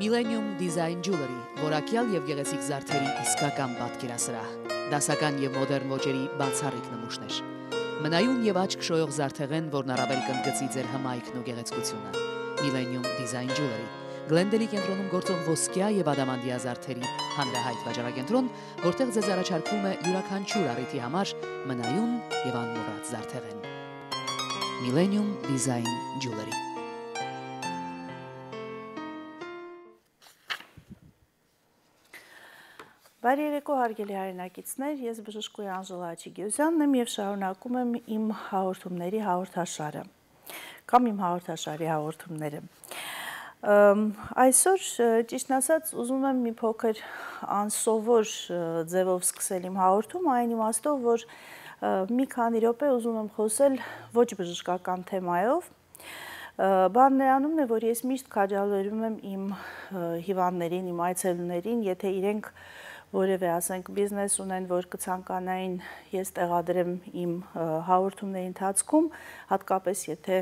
Millennium Design Jewelry, որակյալ եւ գեղեցիկ զարդերի իսկական պատկերասրահ, դասական եւ մոդեռն ոճերի բացառիկ նմուշներ։ Մնայուն եւ աչք շոյող զարդեղեն, որն առավել կընդգծի ձեր հմայքն ու գեղեցկությունը։ Millennium Design Jewelry, Գլենդելի կենտրոնում գործող ոսկյա եւ ադամանդյա զարդերի հանրահայտ վաճառակենտրոն, որտեղ ձեզ առաջարկվում է յուրաքանչյուր առիթի համար մնայուն եւ անմոռաց զարդեղեն։ Millennium Design Jewelry. Բարի երեկո հարգելի հայրենակիցներ, ես բժշկուհի Անժելա Աչիգեոսյանն եմ եւ շարունակում եմ իմ հաղորդումների հաղորդաշարը կամ իմ հաղորդաշարի հաղորդումները։ Այսօր ճիշտն ասած ուզում եմ մի փոքր անսովոր ձևով սկսել իմ հաղորդումը, այն իմաստով, որ մի քանի րոպե ուզում եմ խոսել ոչ բժշկական թեմայով։ Բան նրանումն է, որ ես միշտ քաջալերում եմ իմ հիվանդներին, իմ այցելուներին, եթե իրենք որևէ, ասենք, բիզնես ունեն, որ կցանկանային ես տեղադրեմ իմ հաղորդումների ընթացքում, հատկապես եթե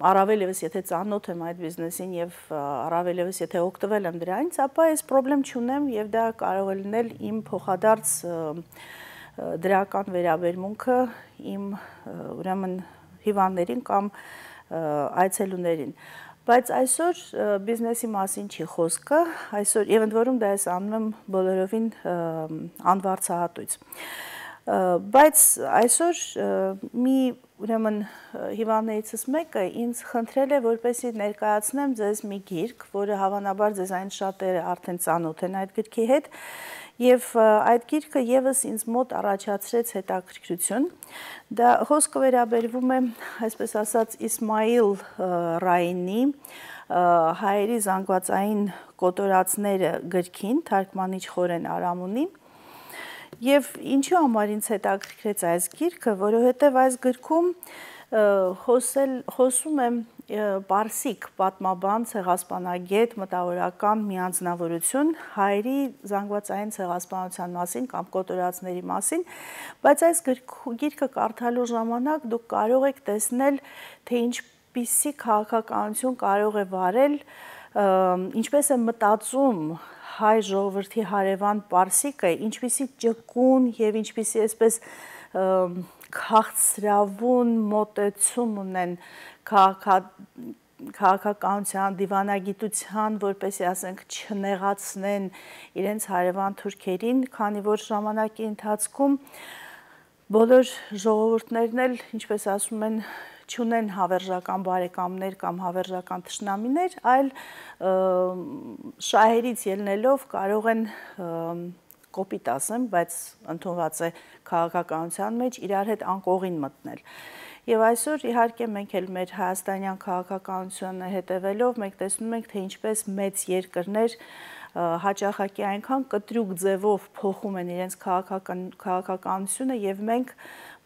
առավել ևս եթե ծանոթ եմ այդ բիզնեսին եւ առավել ևս եթե օգտվել եմ դրանից, ապա ես խնդրեմ չունեմ եւ դա կարող է լինել իմ փոխադարձ դրական վերաբերմունքը իմ ուրեմն հիվանդներին կամ այցելուներին։ Բայց այսօր բիզնեսի մասին չի խոսքը, այսօր եւ ընդ որում դա ես անում եմ բոլորովին անվարձահատույց։ Բայց այսօր մի ուրեմն հիվանդներիցս մեկը ինձ խնդրել է, որպեսզի ներկայացնեմ ձեզ մի գիրք, որը հավանաբար ձեզ այն շատերը արդեն ծանոթ են այդ գրքի հետ, եւ այդ գիրքը եւս ինձ մոտ առաջացրեց հետաքրքրություն։ Դա խոսքը վերաբերվում է, այսպես ասած, Իսմայիլ Ռայինի հայերի զանգվածային կոտորածները գրքին, թարգմանիչ Խորեն Արամունի։ Եվ ինչու համար ինձ հետաքրքրեց այս գիրքը, որովհետև այս գրքում խոսում եմ պարսիկ պատմաբան, ցեղասպանագետ, մտավորական մի անձնավորություն հայերի զանգվածային ցեղասպանության մասին կամ կոտորածների մասին, բայց այս գիրքը կարդալու ժամանակ դուք կարող եք տեսնել, թե ինչպիսի քաղաքականություն կարող է վարել, ինչպես է մտածում հայ ժողովրդի հարևան պարսիկը, ինչպիսի ճկուն եւ ինչպիսի այսպես քաղցրավուն մոտեցում ունեն քաղաքականության, դիվանագիտության, որպեսզի ասենք չնեղացնեն իրենց հարևան թուրքերին, քանի որ ժամանակի ընթացքում բոլոր ժողովուրդներն էլ, ինչպես ասում են, չունեն հավերժական բարեկամներ կամ հավերժական թշնամիներ, այլ շահերից ելնելով կարող են կոպիտ ասեմ, բայց ընդունված է քաղաքականության մեջ իրար հետ անկողին մտնել։ Եվ այսօր իհարկե մենք էլ մեր հայաստանյան քաղաքականությունը հետևելով մենք տեսնում ենք, թե ինչպես մեծ երկրներ հաճախակի այնքան կտրուկ ձևով փոխում են իրենց քաղաքականությունը եւ մենք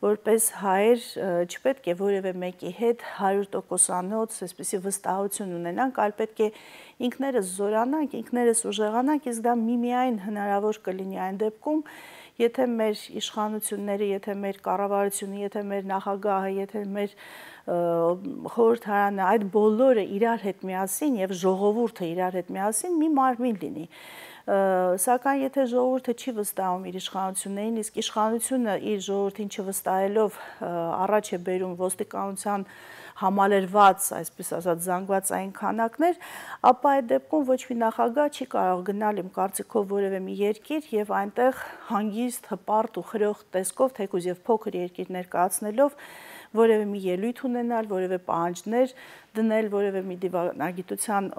որպես հայեր չպետք է որևէ մեկի հետ 100%-անոց այսպեսի վստահություն ունենանք, այլ պետք է ինքներս զորանանք, ինքներս ուժեղանանք, իսկ դա միմիայն հնարավոր կլինի այն դեպքում, եթե մեր իշխանությունները, եթե մեր կառավարությունը, եթե մեր նախագահը, եթե մեր խորհրդարանը, այդ բոլորը իրար հետ միասին եւ ժողովուրդը իրար հետ միասին մի մարմին լինի։ Սակայն եթե ժողովուրդը չի վստահում իր իշխանություններին, իսկ իշխանությունը իր ժողովրդին չվստահելով առաջ է բերում ոստիկանության համալրված, այսպես ասած, զանգվածային քանակներ, ապա այդ դեպքում ոչ մի նախագահ չի կարող գնալ իմ կարծիքով որևէ մի երկիր եւ այնտեղ հանգիստ, հպարտ ու խրող տեսքով, թեկուզ եւ փոքր երկիր ներկայացնելով որևէ մի ելույթ ունենալ, որևէ պահանջներ դնել, որևէ մի դիվանագիտության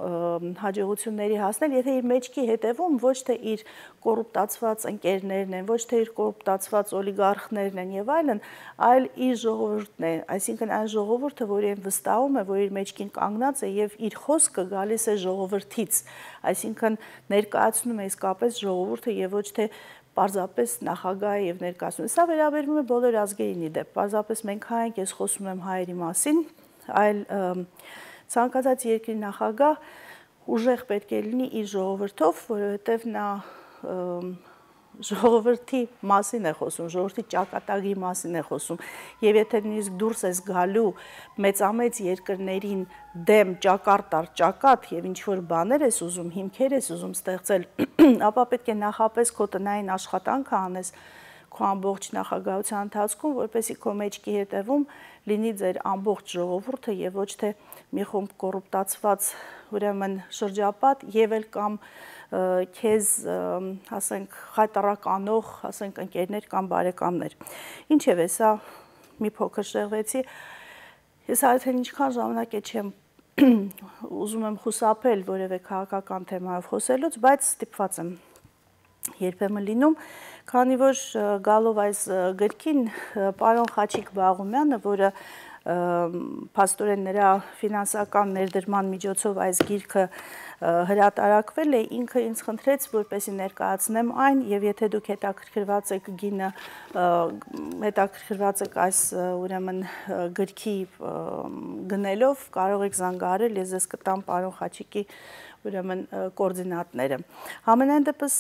հաջողությունների հասնել, եթե իր մեջքի հետևում ոչ թե իր կոռուպտացված ընկերներն են, ոչ թե իր կոռուպտացված օլիգարխներն են եւ այլն, այլ իր ժողովուրդն է, այսինքն այն ժողովուրդը, որին վստահում է, որ իր մեջքին կանգնած է եւ իր խոսքը գալիս է ժողովրդից, այսինքն ներկայացնում է իսկապես ժողովուրդը եւ ոչ թե պարզապես նախագահը եւ ներկայացնում։ Սա վերաբերվում է բոլոր ազգերին իդեպ, պարզապես մենք հայ ենք, ես խոսում եմ հայերի մասին, այլ ցանկացած երկրի նախագահ ուժեղ պետք է լինի իր ժողովրդով, որովհետեւ նա ժողովրդի մասին է խոսում, ժողովրդի ճակատագրի մասին է խոսում, եւ եթե նույնիսկ դուրս ես գալու մեծամեծ երկրներին դեմ ճակատ առ ճակատ եւ ինչ որ բաներ ես ուզում, հիմքեր ես ուզում ստեղծել, ապա պետք է նախապես քո տնային աշխատանքը անես քո ամբողջ նախագահության ընթացքում, որպեսզի քո մեջքի հետևում լինի ձեր ամբողջ ժողովուրդը եւ ոչ թե մի խումբ կոռուպտացված ուրեմն շրջապատ եւ էլ կամ քեզ ասենք խայտարականող, ասենք ընկերներ կամ բարեկամներ։ Ինչևէ, սա մի փոքր շեղվեցի։ Ես արդեն ինչքան ժամանակ է չեմ ուզում եմ խուսափել որևէ քաղաքական թեմայով խոսելուց, բայց ստիպված եմ երբեմն լինում, քանի որ գալով այս գրքին պարոն Խաչիկ Բաղումյանը, որը փաստորեն նրա ֆինանսական ներդրման միջոցով այս գիրքը հրատարակվել է, ինքը ինձ խնդրեց, որպեսզի ներկայացնեմ այն, եւ եթե դուք հետաքրքրված եք գինը, հետաքրքրված եք այս ուրեմն գրքի գնելով, կարող եք զանգահարել, ես ձեզ կտամ պարոն Խաչիկի ուրեմն կոորդինատները։ Համենայն դեպս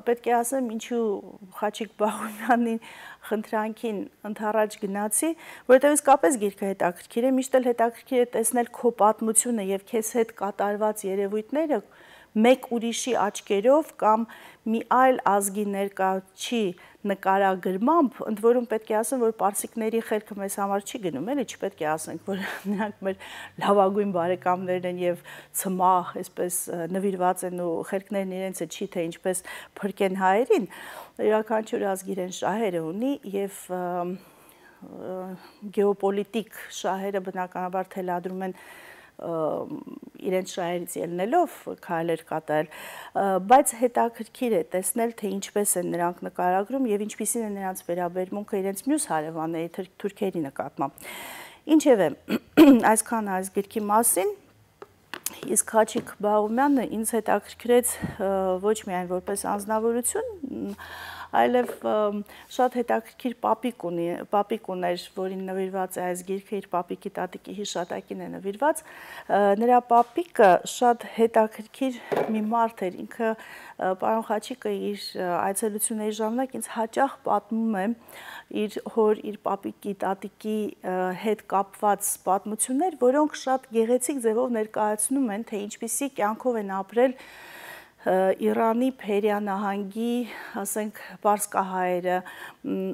պետք է ասեմ, ինչու Խաչիկ Բաղումյանի խնդրանքին ընդառաջ գնացի, որովհետև իսկապես գիրքը հետաքրքիր է, միշտ էլ հետաքրքիր է տեսնել քո պատմությունը եւ քեզ հետ կատարված երևույթները մեկ ուրիշի աչքերով կամ մի այլ ազգի ներկայացի նկարագրմամբ, ընդ որում պետք է ասեմ, որ պարսիկների խելքը մեզ համար չի գնում, էլի չպետք է ասենք, որ նրանք մեր լավագույն բարեկամներն են եւ ցմահ, այսպես նվիրված են ու խելքներն իրենցը չի թե ինչպես փրկեն հայերին, յուրաքանչյուր ազգ իրեն շահերը ունի եւ գեոպոլիտիկ շահերը բնականաբար թելադրում են իրենց շահերից ելնելով քայլեր կատարել, բայց հետաքրքիր է տեսնել, թե ինչպես են նրանք նկարագրում եւ ինչպիսին է նրանց վերաբերմունքը իրենց մյուս հարևանների թուրքերի նկատմամբ։ Ինչևէ, այսքան այս գրքի մասին, իսկ Խաչիկ Բաղումյանը ինձ հետաքրքրեց ոչ միայն որպես անձնավորություն, այլև շատ հետաքրքիր պապիկ ուներ, որին նվիրված է այս գիրքը, իր պապիկի տատիկի հիշատակին է նվիրված, նրա պապիկը շատ հետաքրքիր մի մարդ էր, ինքը պարոն Խաչիկը իր այցելությունների ժամանակ ինձ հաճախ պատմում է իր հոր, իր պապիկի, տատիկի հետ կապված պատմություններ, որոնք շատ գեղեցիկ ձևով ներկայացնում են, թե ինչպիսի կյանքով են ապրել Իրանի Փերիա նահանգի, ասենք, պարսկահայերը,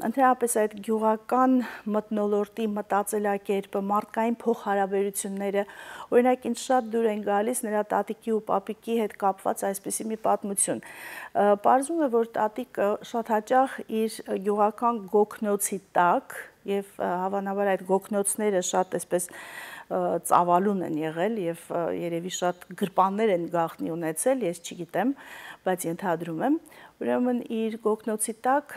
ընդհանրապես այդ գյուղական մթնոլորտի մտածելակերպը, մարդկային փոխհարաբերությունները, օրինակ ինձ շատ դուր են գալիս նրա տատիկի ու պապիկի հետ կապված այսպիսի մի պատմություն։ Պարզվում է, որ տատիկը շատ հաճախ իր գյուղական գոգնոցի տակ եւ հավանաբար այդ գոգնոցները շատ այսպես ծավալուն են եղել եւ երևի շատ գրպաններ են գաղտնի ունեցել, ես չգիտեմ, բայց ենթադրում եմ, ուրեմն իր գոգնոցի տակ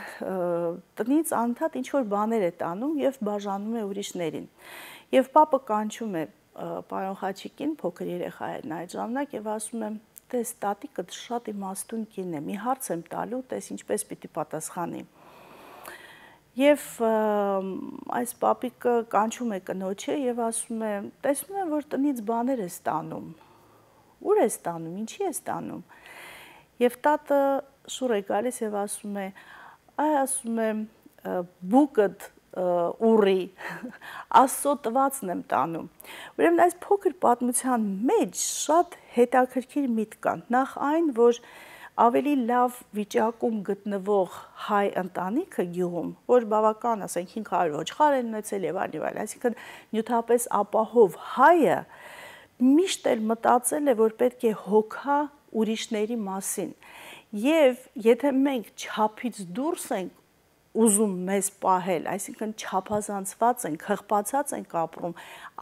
տնից անընդհատ ինչ-որ բաներ է տանում եւ բաժանում է ուրիշներին։ Եվ պապը կանչում է պարոն Խաչիկին, փոքր երեխա էր այդ ժամանակ եւ ասում է. «Տես, տատիկդ շատ իմաստուն կին է, մի հարց եմ տալու, տես ինչպես պիտի պատասխանի»։ Եվ այս պապիկը կանչում է կնոջը եւ ասում է. «Տեսնում եմ, որ տնից բաներ ես տանում։ Ուր ես տանում, ինչի ես տանում»։ Եվ տատը շուռ է գալիս եւ ասում է. «Այ ասում է, բուկդ ուռի, Աստծո տվածն եմ տանում»։ Ուրեմն այս փոքր պատմության մեջ շատ հետաքրքիր միտք կա։ Նախ այն, որ ավելի լավ վիճակում գտնվող հայ ընտանիքը գյուղում, որ բավական, ասենք 500 ոչխար են ունեցել եւ այլն, այսինքն նյութապես ապահով հայը միշտ էլ մտածել է, որ պետք է հոգա ուրիշների մասին։ Եվ եթե մենք չափից դուրս ենք ուզում մեզ պահել, այսինքն չափազանցված ենք, խղճացած ենք ապրում,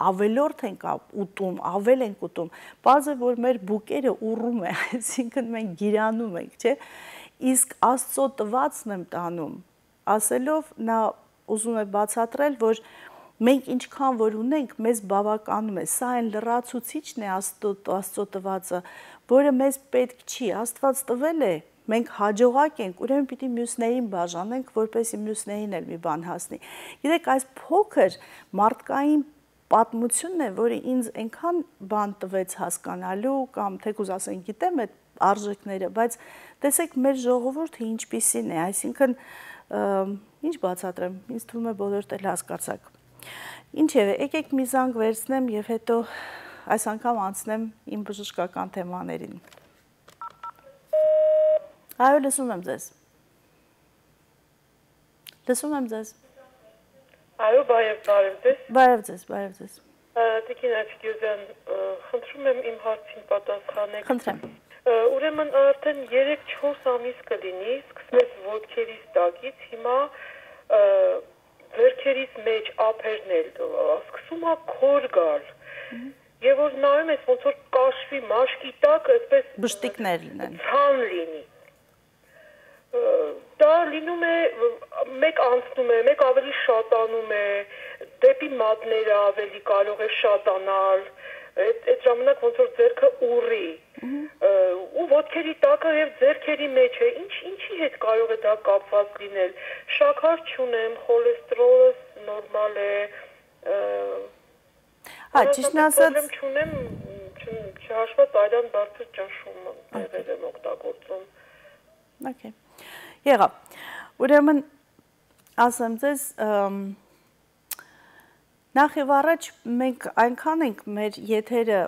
ավելորդ ենք ուտում, ավել ենք ուտում, բարձ է, որ մեր բուկերը ուռում է, այսինքն մենք գիրանում ենք, չէ՞։ Իսկ Աստծո տվածն եմ տանում, ասելով նա ուզում է բացատրել, որ մենք ինչքան որ ունենք, մեզ բավականում է, սա այն լրացուցիչն է Աստծո տվածը, որը մեզ պետք չի, Աստված տվել է, մենք հաջողակ ենք, ուրեմն պիտի մյուսներին բաժանենք, որպեսզի մյուսներին էլ մի բան հասնի։ Գիտեք, այս փոքր մարդկային պատմությունն է, որը ինձ այնքան բան տվեց հասկանալու կամ թեկուզ ասենք գիտեմ, այդ արժեքները, բայց տեսեք մեր ժողովուրդը ինչպիսին է, այսինքն ինչ բացատրեմ, ինձ թվում է բոլորդ էլ հասկացաք։ Ինչևէ, եկեք մի զանգ վերցնեմ եւ հետո այս անգամ անցնեմ իմ բժշկական թեմաներին։ Այո, լսում եմ ձեզ։ Լսում եմ ձեզ։ Այո, բարև ձեզ։ Բարև ձեզ, բարև ձեզ։ Տիկին Աչիկյոզյան, խնդրում եմ իմ հարցին պատասխանեք։ Խնդրեմ։ Ուրեմն արդեն 3-4 ամիս կլինի, սկսվեց ոտքերիս տակից, հիմա վերքերիս մեջ ափերն էլ սկսում է քոր գալ։ Եվ որ նայում ես ոնց որ կաշվի մաշկի տակ, այսպես բշտիկներ լինեն։ Ցան լինի։ Դա լինում է մեկ անցնում է, մեկ ավելի շատանում է, դեպի մատները ավելի կարող է շատանալ, այդ ժամանակ ոնց որ ձեռքը ուռի, ու ոտքերի տակը եւ ձեռքերի մեջ է, ինչի հետ կարող է դա կապված լինել, շաքար չունեմ, խոլեստերոլս նորմալ է, ճիշտ ասած չունեմ, չհաշված այլան բարձր ճնշում եղել եմ օգտագործում։ Okay. Եղավ։ Ուրեմն ասեմ ձեզ, նախ եւ առաջ մենք այնքան ենք մեր եթերը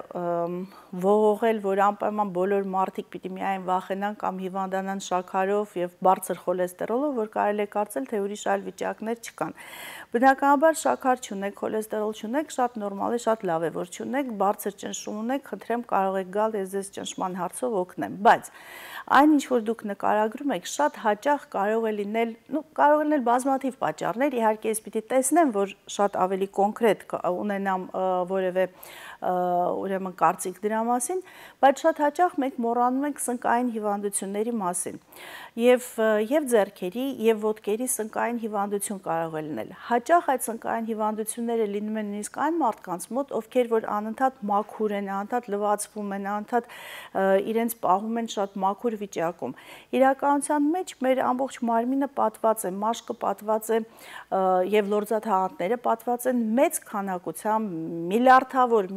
ողողել, որ անպայման բոլոր մարդիկ պիտի միայն վախենան կամ հիվանդանան շաքարով եւ բարձր խոլեստերոլով, որ կարելի է կարծել, թե ուրիշ այլ վիճակներ չկան։ Բնականաբար շաքար չունեք, խոլեստերոլ չունեք, շատ նորմալ է, շատ լավ է, որ չունեք, բարձր ճնշում ունեք, խնդրեմ կարող եք գալ, ես ձեզ ճնշման հարցով օգնեմ, բայց այն ինչ որ դուք նկարագրում եք, շատ հաճախ կարող է լինել, կարող է լինել բազմաթիվ պատճառներ, իհարկե ես պիտի տեսնեմ, որ շատ ավելի կոնկրետ ունենամ որևէ ուրեմն կարծիք դրա մասին, բայց շատ հաճախ մենք մոռանում ենք սնկային հիվանդությունների մասին եւ ձեռքերի եւ ոտքերի սնկային հիվանդություն կարող է լինել։ Հաճախ այդ սնկային հիվանդությունները լինում են նույնիսկ այն մարդկանց մոտ, ովքեր որ անընդհատ մաքուր են, անընդհատ լվացվում են, անընդհատ իրենց պահում են շատ մաքուր վիճակում։ Իրականության մեջ մեր ամբողջ մարմինը պատված է, մաշկը պատված է եւ լորձաթաղանթները պատված են մեծ քանակությամբ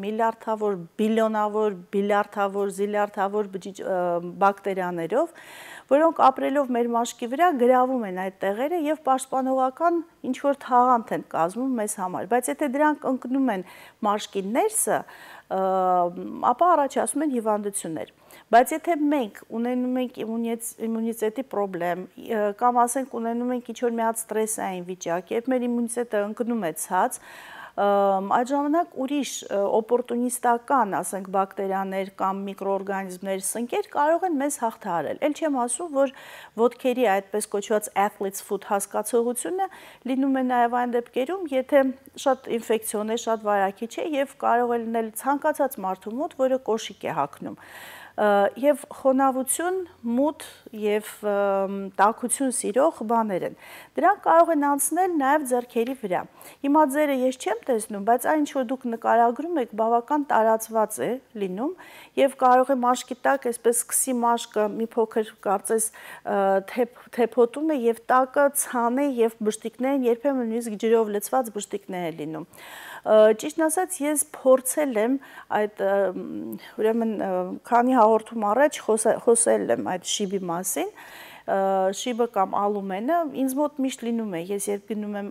միլիարդավոր, բիլիարդավոր, զիլիարդավոր բակտերիաներով, որոնք ապրելով մեր մաշկի վրա գրավում են այդ տեղերը եւ պաշտպանողական ինչ-որ թաղանթ են կազմում մեզ համար, բայց եթե դրանք ընկնում են մաշկի ներսը, ապա առաջացնում են հիվանդություններ։ Բայց եթե մենք ունենում ենք իմունիտետի պրոբլեմ, կամ ասենք ունենում ենք ինչ-որ մի հատ ստրեսային վիճակ, երբ մեր իմունիտետը ընկնում է ցած, այդ ժամանակ ուրիշ օպորտունիստական, ասենք, բակտերիաներ կամ միկրոօրգանիզմներ, սնկեր կարող են մեզ հաղթահարել։ Էլ չեմ ասում, որ ոտքերի այդպես կոչված athlete's foot հասկացողությունը լինում է նաև այն դեպքերում, եթե շատ ինֆեկցիոն է, շատ վարակիչ է եւ կարող է լինել ցանկացած մարդու մոտ, որը կոշիկ է հագնում։ Եվ խոնավություն, մութ եւ տաքություն սիրող բաներ են։ Դրանք կարող են անցնել նաեւ ձեռքերի վրա։ Հիմա ձերը ես չեմ տեսնում, բայց այն ինչ որ դուք նկարագրում եք, բավական տարածված է լինում եւ կարող է մաշկի տակ այսպես սկսի մաշկը մի փոքր կարծես թեփոտում է եւ տակը ցան է եւ բշտիկներ են, երբեմն նույնիսկ ջրով լցված բշտիկներ են լինում։ Ճիշտ ասած, ես փորձել եմ այդ ուրեմն քանի հաղորդում առաջ խոսել եմ այդ շիբի մասին, շիբը կամ ալումենը ինձ մոտ միշտ լինում է, ես երբ գնում եմ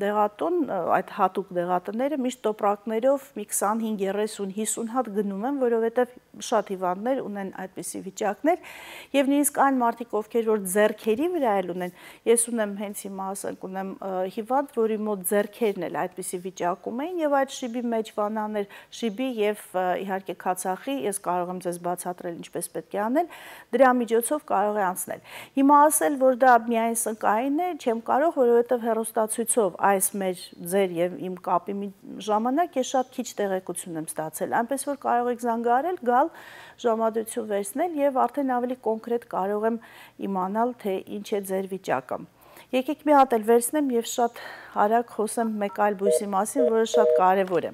դեղատուն, այդ հատուկ դեղատները միշտ տոպրակներով մի 25, 30, 50 հատ գնում եմ, որովհետև շատ հիվանդներ ունեն այդպիսի վիճակներ եւ նույնիսկ այն մարդիկ, ովքեր որ ձեռքերի վրա էլ ունեն, ես ունեմ հենց հիմա ասենք ունեմ հիվանդ, որի մոտ ձեռքերն էլ այդպիսի վիճակում էին եւ այդ շիբի մեջ վանաներ, շիբի եւ իհարկե քացախի, ես կարող եմ ձեզ բացատրել ինչպես պետք է անել, դրա միջոցով կարող է անցնել։ Հիմա ասել, որ դա միայն սնկային է, չեմ կարող, որովհետև հեռուստացույցով այս մեր ձեր եւ իմ կապի ժամանակ ես շատ քիչ տեղեկություն եմ ստացել, այնպես որ կարող եք զանգահարել, գալ, ժամադրություն վերցնել եւ արդեն ավելի կոնկրետ կարող եմ իմանալ, թե ինչ է ձեր վիճակը։ Եկեք մի հատ էլ վերցնեմ եւ շատ արագ խոսեմ մեկ այլ բույսի մասին, որը շատ կարեւոր է։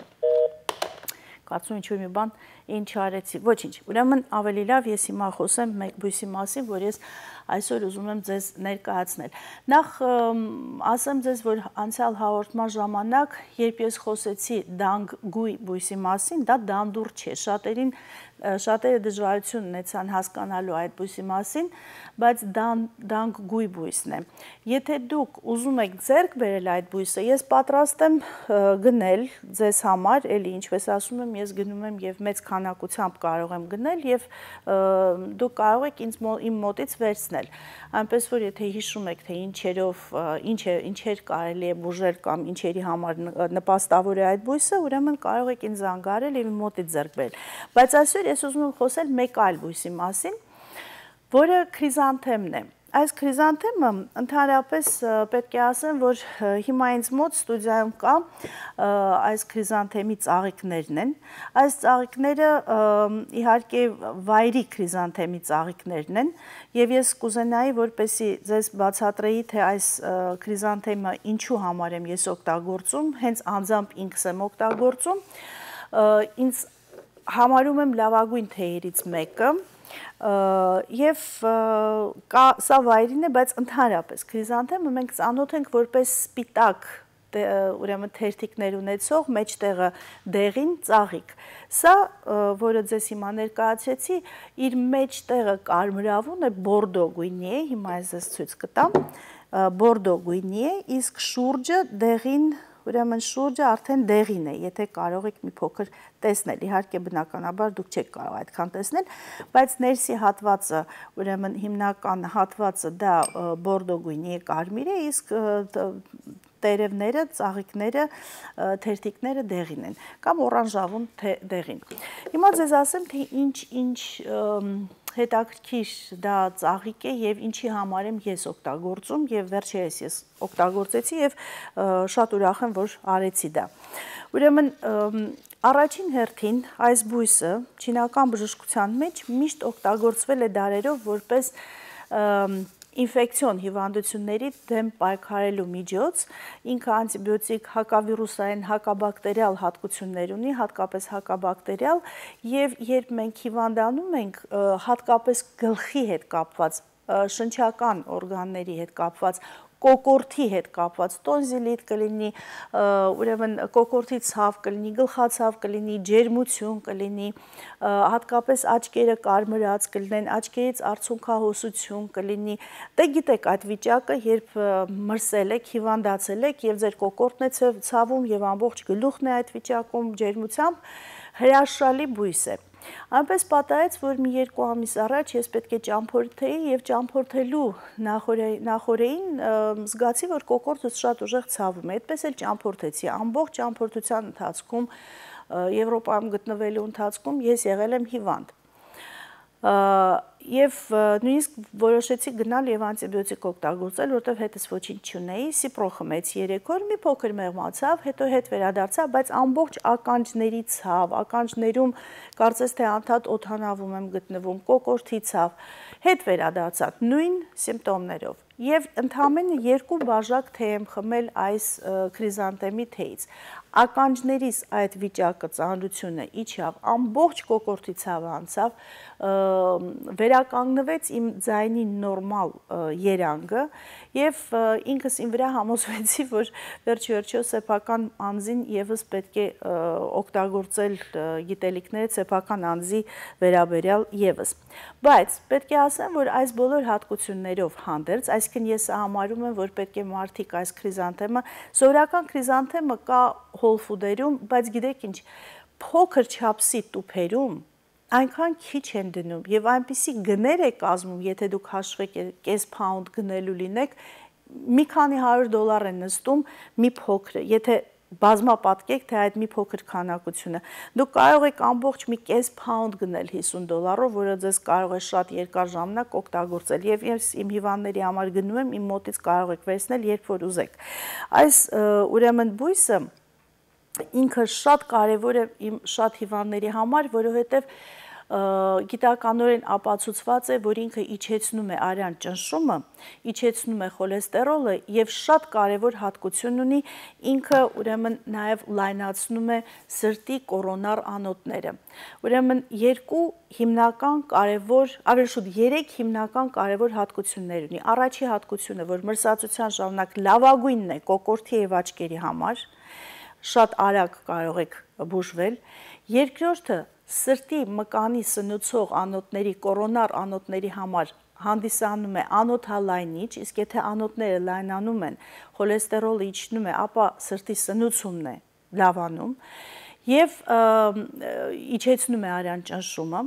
Կարծում ինչ-որ մի բան ինչ արեցի, ոչինչ։ Ուրեմն ավելի լավ ես հիմա խոսեմ մեկ բույսի մասին, որ ես այսօր ուզում եմ ձեզ ներկայացնել։ Նախ ասեմ ձեզ, որ անցյալ հաղորդման ժամանակ, երբ ես խոսեցի դանգ-գույ բույսի մասին, դա դանդուռ չէ, շատերը դժվարություն ունեցան հասկանալու այդ բույսի մասին, բայց դանգ-գույ բույսն է։ Եթե դուք ուզում եք ձեռք բերել այդ բույսը, ես պատրաստ եմ գնել ձեզ համար, էլի ինչպես ասում եմ, ես գնում եմ եւ մեծ քանակությամբ կարող եմ գնել եւ դուք կարող եք իմ մոտից վերցնել։ Այնպես որ եթե հիշում եք, թե ինչեր կարելի է բուժել կամ ինչերի համար նպաստավոր է այդ բույսը, ուրեմն կարող եք ինձ զանգարել եւ իմ մոտից ձեռք բերել։ Բայց այսօր ես ուզում եմ խոսել մեկ այլ բույսի մասին, որը քրիզանթեմն է։ Այս քրիզանթեմը ընդհանրապես պետք է ասեմ, որ հիմա ինձ մոտ ստուդիայում կա այս քրիզանթեմի ծաղիկներն են։ Այս ծաղիկները իհարկե վայրի քրիզանթեմի ծաղիկներն են, եւ ես կուզենայի, որպեսզի ձեզ բացատրեի, թե այս քրիզանթեմը ինչու համար եմ ես օգտագործում, հենց անձամբ ինքս եմ օգտագործում։ Ինձ համարում եմ լավագույն թեյերից մեկը։ Եվ սա վայրին է, բայց ընդհանրապես քրիզանթեմը մենք ծանոթ ենք որպես սպիտակ, ուրեմն թերթիկներ ունեցող, մեջտեղը դեղին ծաղիկ։ Սա, որը ձեզ հիմա ներկայացրեցի, իր մեջտեղը կարմրավուն է, բորդո գույնի է, հիմա ես ձեզ ցույց կտամ, բորդո գույնի է, իսկ շուրջը դեղին, ուրեմն շուրջը արդեն դեղին է, եթե կարող եք մի փոքր տեսնել, իհարկե բնականաբար դուք չեք կարող այդքան տեսնել, բայց ներսի հատվածը, ուրեմն հիմնական հատվածը դա բորդո գույնի է, կարմիր է, իսկ տերևները, ծաղիկները, թերթիկները դեղին են, կամ օրանժավուն դեղին։ Հիմա ձեզ ասեմ, թե ինչ հետաքրքիր դա ծաղիկ է եւ ինչի համար եմ ես օգտագործում եւ վերջերս ես օգտագործեցի եւ շատ ուրախ եմ, որ արեցի դա։ Ուրեմն առաջին հերթին այս բույսը չինական բժշկության մեջ միշտ օգտագործվել է դարերով որպես ինֆեկցիոն հիվանդությունների դեմ պայքարելու միջոց, ինքը անտիբիոտիկ, հակավիրուսային, հակաբակտերիալ հատկություններ ունի, հատկապես հակաբակտերիալ, եւ երբ մենք հիվանդանում ենք, հատկապես գլխի հետ կապված, շնչական օրգանների հետ կապված, կոկորտի հետ կապված, տոնզիլիտ կլինի, ուրեմն կոկորտի ցավ կլինի, գլխացավ կլինի, ջերմություն կլինի, հատկապես աչքերը կարմրած կլինեն, աչքերից արցունքահոսություն կլինի, դե գիտեք այդ վիճակը, երբ մրսել եք, հիվանդացել եք եւ ձեր կոկորտն է ցավում եւ ամբողջ գլուխն է այդ վիճակում ջերմությամբ, հրաշալի բույս է։ Այնպես պատահեց, որ մի 2 ամիս առաջ ես պետք է ճամփորդեի եւ ճամփորդելու նախորդին զգացի, որ կոկորտս շատ ուժեղ ցավում է, այդպես էլ ճամփորդեցի, ամբողջ ճամփորդության ընթացքում, Եվրոպայում գտնվելու ընթացքում ես եղել եմ հիվանդ։ Եվ նույնիսկ որոշեցի գնալ եւ անտիբիոտիկ օգտագործել, որտեվ հետս ոչինչ չունեի, սիպրո խմեցի 3 օր, մի փոքր մեղմացավ, հետո հետ վերադարձա, բայց ամբողջ ականջների ցավ, ականջներում կարծես թե անդադ օդանավում եմ գտնվում, կոկորտի ցավ, հետ վերադարձա նույն սիմպտոմներով։ Եվ ընդամենը 2 բաժակ թեյ եմ խմել այս քրիզանտեմի թեյից։ Ականջներիս այդ վիճակը, ծանրությունը իջավ, ամբողջ կոկորտի ցավը անցավ, վերականգնվեց իմ ձայնի նորմալ երանգը եւ ինքս իմ վրա համոզվեցի, որ վերջիվերջո սեփական անձին եւս պետք է օգտագործել գիտելիքները սեփական անձի վերաբերյալ եւս։ Բայց պետք է ասեմ, որ այս բոլոր հատկություններով հանդերձ, այսինքն ես համարում եմ, որ պետք է մարդիկ այս քրիզանթեմը, սովորական քրիզանթեմը կա հոլ ֆուդերում, բայց գիտեք ինչ, փոքր չափսի տուփերում այնքան քիչ են դնում եւ այնպիսի գներ է կազմում, եթե դուք հաշվեք կես փաունդ գնելու լինեք, մի քանի $100 են նստում մի փոքր, եթե բազմապատկեք, թե այդ մի փոքր քանակությունը, դուք կարող եք ամբողջ մի կես փաունդ գնել $50, որը ձեզ կարող է շատ երկար ժամանակ օգտագործել եւ ես իմ հիվանդների համար գնում եմ, իմ մոտից կարող եք վերցնել, երբ որ ուզեք։ Այս ուրեմն բույսը ինքը շատ կարևոր է իմ շատ հիվանդների համար, որովհետև գիտականորեն ապացուցված է, որ ինքը իջեցնում է արյան ճնշումը, իջեցնում է խոլեստերոլը եւ շատ կարեւոր հատկություն ունի, ինքը ուրեմն նաեւ լայնացնում է սրտի կորոնար անոթները։ Ուրեմն երկու հիմնական կարևոր, ավելի շուտ 3 հիմնական կարևոր հատկություններ ունի։ Առաջի հատկությունը, որ մրսածության ժամանակ լավագույնն է կոկորդի եւ աչքերի համար, շատ արագ կարող եք բուժվել։ Երկրորդը սրտի մկանի սնուցող անոթների, կորոնար անոթների համար հանդիսանում է անոթալայնիչ, իսկ եթե անոթները լայնանում են, խոլեստերոլը իջնում է, ապա սրտի սնուցումն է լավանում եւ իջեցնում է արյան ճնշումը։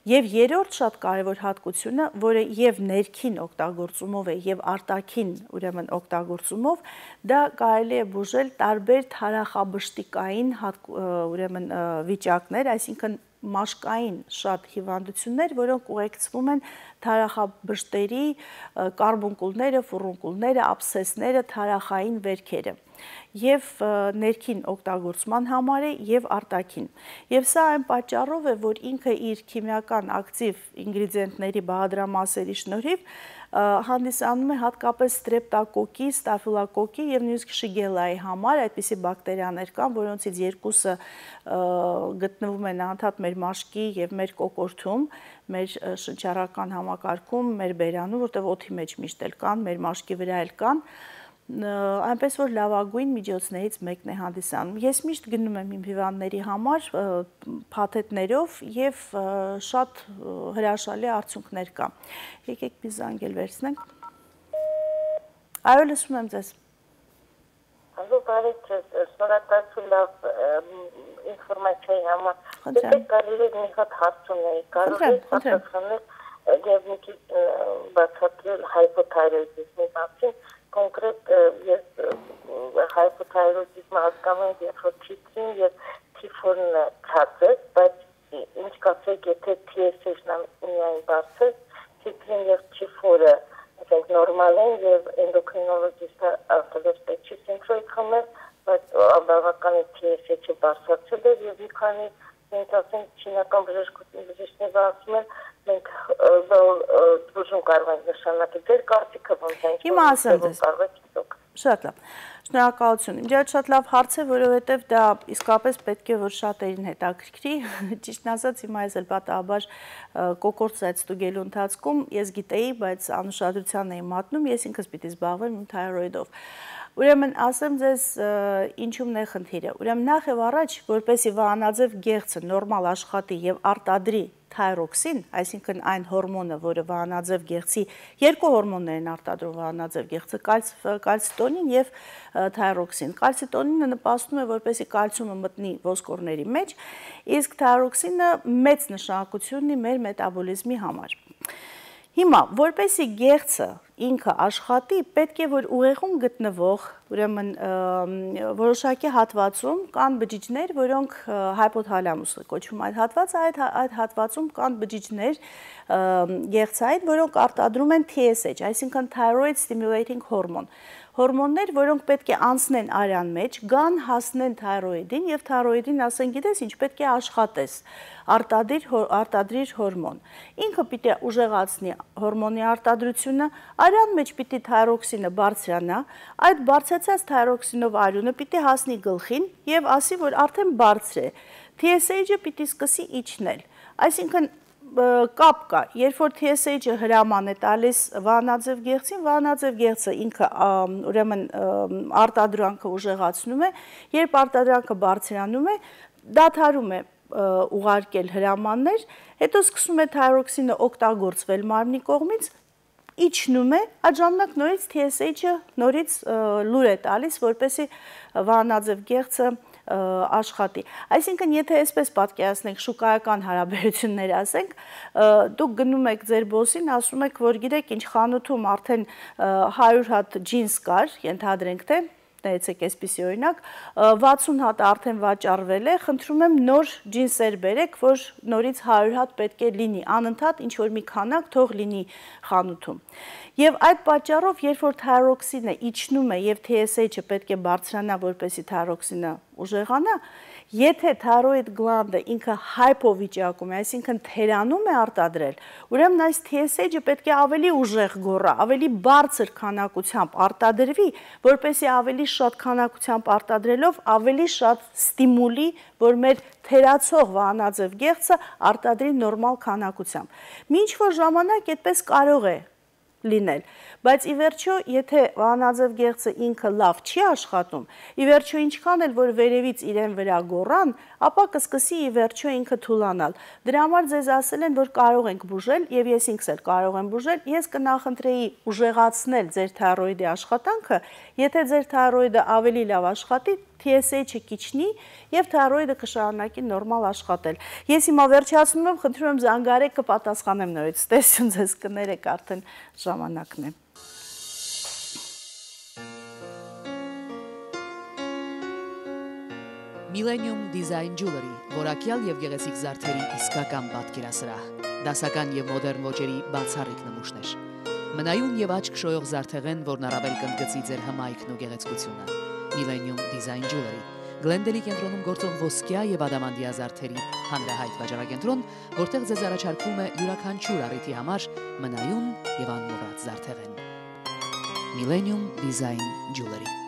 Եվ երրորդ շատ կարևոր հատկությունը, որը եւ ներքին օգտագործումով է եւ արտաքին ուրեմն օգտագործումով, դա կարելի է բուժել տարբեր թարախաբշտիկային ուրեմն վիճակներ, այսինքն մաշկային շատ հիվանդություններ, որոնք ուղեկցվում են թարախաբշտերի, կարբունկուլները, ֆուրունկուլները, աբսեսները, թարախային վերքերը եւ ներքին օգտագործման համար է եւ արտաքին։ Եվ սա այն պատճառով է, որ ինքը իր քիմիական ակտիվ ինգրեդիենտների բաղադրամասերի շնորհիվ հանդիսանում է հատկապես ստրեպտոկոկի, ստաֆիլոկոկի եւ նույնիսկ շիգելայի համար այդպիսի բակտերիաներ կան, որոնցից երկուսը գտնվում են անդադ մեր մաշկի եւ մեր կոկորդում, մեր շնչառական համակարգում, մեր բերանում, որտեղ օդի մեջ միշտ էլ կան, մեր մաշկի վրա էլ կան, այնպես որ լավագույն միջոցներից մեկն է հանդիսանում։ Ես միշտ գնում եմ իմ հիվանդների համար փաթեթներով եւ շատ հրաշալի արդյունքներ կա։ Եկեք մի զանգել վերցնենք։ Այո, լսում եմ ձեզ։ Ալո, բարի ձեզ, շնորհակալություն լավ ինֆորմացիայի համար։ Եթե կարելի է մի հատ հարց ունեի, կարող եք պատասխանել եւ մի քիչ բացատրել հայպոթայրոիդիզմի մասին, կոնկրետ ես հայպոթայրոիդիզմը հասկանում եմ, երբ որ T3-ն եւ T4-ն ցած է, բայց ինչ կասեք, եթե TSH-ն միայն բարձր, T3-ն եւ T4-ը ասենք նորմալ են եւ էնդոկրինոլոգիստը ասելով պետք չի սինխրոյդ խմել, բայց բավականին TSH-ը բարձրացել է եւ մի քանի մենք ասենք չինական բժշկությունները ասում են մենք դժոխ կարող ենք նշանակել ձեր կարծիքը ոնց է։ Հիմա ասեմ ձեզ։ Շատ լավ։ Շնորհակալություն։ Իմ շատ շատ լավ հարց է, որովհետև դա իսկապես պետք է որ շատերին հետաքրքրի։ Ճիշտն ասած, հիմա ես էլ պատահաբար կոկորտսայց ստուգելու ընթացքում ես գիտեի, բայց անուշադրության էի մատնում, ես ինքս պիտի զբաղվեմ իմ թայրոիդով։ Ուրեմն ասեմ ձեզ ինչումն է խնդիրը։ Ուրեմն նախ եւ առաջ, որպեսզի վահանաձև գեղձը նորմալ աշխատի եւ արտադրի թայրոքսին, այսինքն այն հորմոնը, որը վահանաձև գեղձի երկու հորմոններ են արտադրում վահանաձև գեղձը, կալցիտոնին եւ թայրոքսին։ Կալցիտոնինը նպաստում է, որպեսզի կալցիումը մտնի ոսկորների մեջ, իսկ թայրոքսինը մեծ նշանակություն ունի մեր մետաբոլիզմի համար։ Հիմա, որպեսզի գեղձը ինքը աշխատի, պետք է որ ուղեղում գտնվող, ուրեմն որոշակի հատվածում կան բջիջներ, որոնք հայպոթալամուսը կոչվում այդ հատվածը, այդ հատվածում կան բջիջներ գեղձային, որոնք արտադրում են TSH, այսինքն Thyroid Stimulating Hormone, հորմոններ, որոնք պետք է անցնեն արյան մեջ, գան հասնեն թայրոիդին եւ թայրոիդին ասեն գիտես ինչ պետք է աշխատես, արտադրիր հորմոն։ Ինքը պիտի ուժեղացնի հորմոնի արտադրությունը, արյան մեջ պիտի թայրոքսինը բարձրանա, այդ բարձրացած թայրոքսինով արյունը պիտի հասնի գլխին եւ ասի, որ արդեն բարձր է։ TSH-ը պիտի սկսի իջնել։ Այսինքն կապ կա, երբ որ TSH-ը հրաման է տալիս վահանաձև գեղձին, վահանաձև գեղձը ինքը ուրեմն արտադրանքը ուժեղացնում է, երբ արտադրանքը բարձրանում է, դադարում է ուղարկել հրամաններ, հետո սկսում է թայրոքսինը օգտագործվել մարմնի կողմից, իջնում է, այդ ժամանակ նորից TSH-ը նորից լուր է տալիս, որպեսզի վահանաձև գեղձը աշխատի։ Այսինքն, եթե այսպես պատկերացնենք շուկայական հարաբերություններ ասենք, դուք գնում եք ձեր բոսին, ասում եք, որ գիտեք ինչ խանութում արդեն 100 հատ ջինս կար, ենթադրենք թե, նայեցեք այսպիսի օրինակ, 60 հատ արդեն վաճառվել է, խնդրում եմ նոր ջինսեր բերեք, որ նորից 100 հատ պետք է լինի, անընդհատ ինչ որ մի քանակ թող լինի խանութում։ Եվ այդ պատճառով, երբ որ թայրոքսինը իջնում է եւ TSH-ը պետք է բարձրանա, որպեսզի թայրոքսինը ուժեղանա, Եթե թայրոիդ գլանդը ինքը հայպովիճակում է, այսինքն թերանում է արտադրել, ուրեմն այս TSH-ը պետք է ավելի ուժեղ գոռա, ավելի բարձր քանակությամբ արտադրվի, որպեսզի ավելի շատ քանակությամբ արտադրելով ավելի շատ ստիմուլի, որ մեր թերացող վահանաձև գեղձը արտադրի նորմալ քանակությամբ։ Մինչ որ ժամանակ այդպես կարող է լինել, բայց ի վերջո, եթե վահանաձև գեղձը ինքը լավ չի աշխատում, ի վերջո ինչքան էլ որ վերևից իրեն վրա գոռան, ապա կսկսի ի վերջո ինքը թուլանալ։ Դրա համար ձեզ ասել են, որ կարող ենք բուժել, եւ ես ինքս էլ կարող եմ բուժել, ես կնախընտրեի ուժեղացնել ձեր թայրոիդի աշխատանքը, եթե ձեր թայրոիդը ավելի լավ աշխատի, TSH-ը կիջնի եւ թայրոիդը կշարունակի նորմալ աշխատել։ Ես հիմա վերջացնում եմ, խնդրում եմ զանգարեք, կպատասխանեմ նորից։ Տեսություն ձեզ կներեք, արդեն ժամանակն է։ Millennium Design Jewelry, որակյալ եւ գեղեցիկ զարդերի իսկական պատկերասրահ, դասական եւ մոդեռն ոճերի բացառիկ նմուշներ։ Մնայուն եւ աչք շոյող զարդեղեն, որն առավել կընդգծի ձեր հմայքն ու գեղեցկությունը։ Millennium Design Jewelry, Գլենդելի կենտրոնում գործող ոսկյա եւ ադամանդյա զարդերի հանրահայտ վաճառակենտրոն, որտեղ ձեզ առաջարկվում է յուրաքանչյուր առիթի համար մնայուն եւ անմոռաց զարդեղեն։ Millennium Design Jewelry